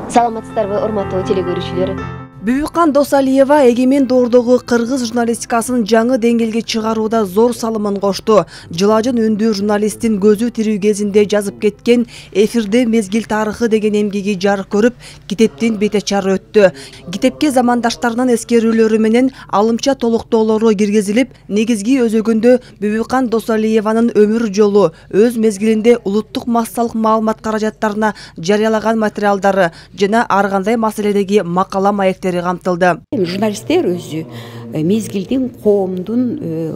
Саламатсыздарбы, урматтуу телекөрүүчүлөр. Бүбүкан Досалиева эгемен доордогу кыргыз журналистикасын жаңы деңгээлге чыгарууда зор салымын кошту. Жылажын үндүү журналисттин көзү тирүү кезинде жазып кеткен «Эфирде мезгил тарыхы» деген эмгеги жарык көрүп, китептин бет ачары өттү. Китепке замандаштарынын эскерүүлөрү менен алымча толуктоолору киргизилип, негизги өзөгүндө Бүбүкан Досалиеванын өмүр жолу, өз мезгилинде улуттук массалык маалымат каражаттарына жарыялаган материалдары жана ар кандай маселедеги макала маектери камтылды. Журналисттер өзү мезгилдин, коомдун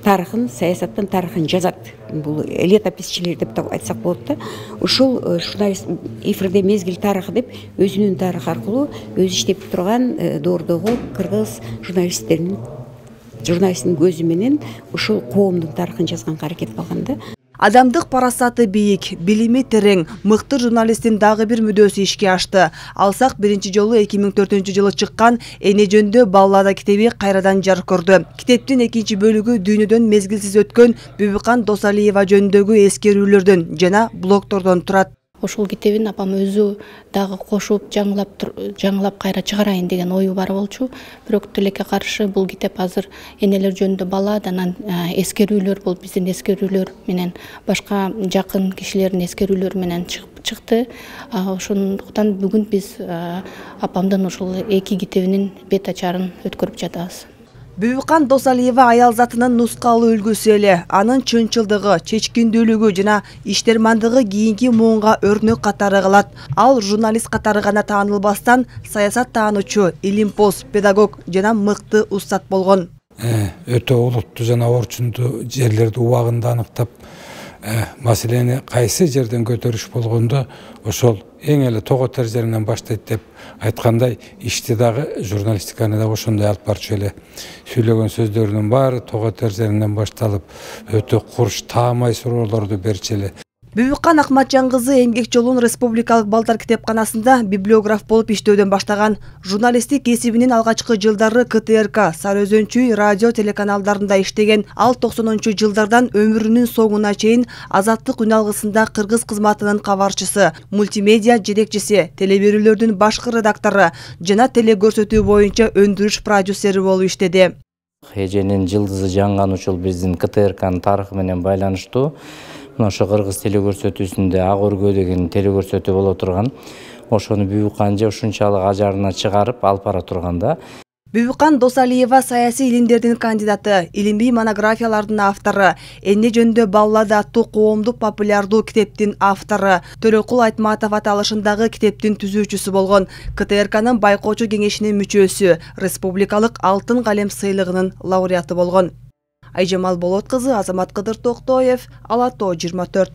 тарыхын, саясаттын тарыхын жазат. Бул летописчилер деп айтсак болот да. Ушул журналист эфирде мезгил тарыхы деп өзүнүн тарыхы аркылуу өзү иштеп турган доордогу кыргыз журналисттин көзү менен ушул коомдун тарыхын жазганга аракет кылган да. Адамдык парасаты бийик, билими терең, мыкты журналисттин дагы бир мүдөөсү ишке ашты. Алсак биринчи жолу 2004-жылы чыккан «Эне жөндө баллада» китеби кайрадан жарык көрдү. Китептин экинчи бөлүгү дүйнөдөн мезгилсиз өткөн Бүбүкан Досалиева жөнүндөгү эскерүүлөрдөн жана блогтордон турат. Ошол китебин апам өзү дагы кошуп, жаңылап кайра чыгарайын деген ою бар болчу. Бирок тилекке каршы бул китеп азыр энелер жөнүндө баллада, анан эскерүүлөр болуп, биздин эскерүүлөр менен башка жакын кишилердин эскерүүлөрү менен чыкты. Ошондуктан бүгүн биз апамдын ушул эки китебинин бет ачарын өткөрүп жатабыз. Бүбүкан Досалиева аял затынын нускалуу үлгүсү эле, анын чынчылдыгы, чечкиндүүлүгү жана иштермандыгы кийинки муунга өрнөк катары калат. Ал журналист катары гана таанылбастан, саясат таануучу, илимпоз, педагог жана мыкты устат болгон. Өтө олуттуу жана орчундуу жерлерди убагында аныктап, маселени кайсы жерден көтөрүш болгондо ошол эң эле тоготер жеринен баштайт деп айткандай, ишти дагы журналистиканы дагы ошондой алып барчу эле. Сүйлөгөн сөздөрүнүн баары тоготер жеринен башталып, өтө курч, таамай суроолорду берчү эле. Бүбүкан Акматжан кызы эмгек жолун Республикалык балдар китепканасында библиограф болуп иштөөдөн баштаган. Журналисттик кесибинин алгачкы жылдары КТРК, Сары Өзөнчүй радио телеканалдарында иштеген. Ал 90-жылдардан өмүрүнүн соңуна чейин Азаттык үн алгысында кыргыз кызматынын кабарчысы, мультимедиа жетекчиси, телеберүүлөрдүн башкы редактору жана телекөрсөтүү боюнча өндүрүш продюсери болуп иштеди. Эженин жылдызы жанган учул биздин КТРКнын тарыхы менен байланыштуу. Ошо кыргыз телекөрсөтүүсүндө Ак өргөө деген телекөрсөтүү боло турган. Ошону Бүбүкан же ушунчалык ажарына чыгарып алып бара турган да. Бүбүкан Досалиева саясий илимдердин кандидаты, илимий монографиялардын автору, «Эне жөндө баллада» аттуу коомдук популярдуу китептин автору, Төрөкул Айтматов аталышындагы китептин түзүүчүсү болгон, КТРКнын байкоочу кеңешинин мүчөсү, республикалык Алтын калем сыйлыгынын лауреаты болгон. Айжамал Болот кызы, Азамат Кыдыр Токтоев, Ала Тоо 24.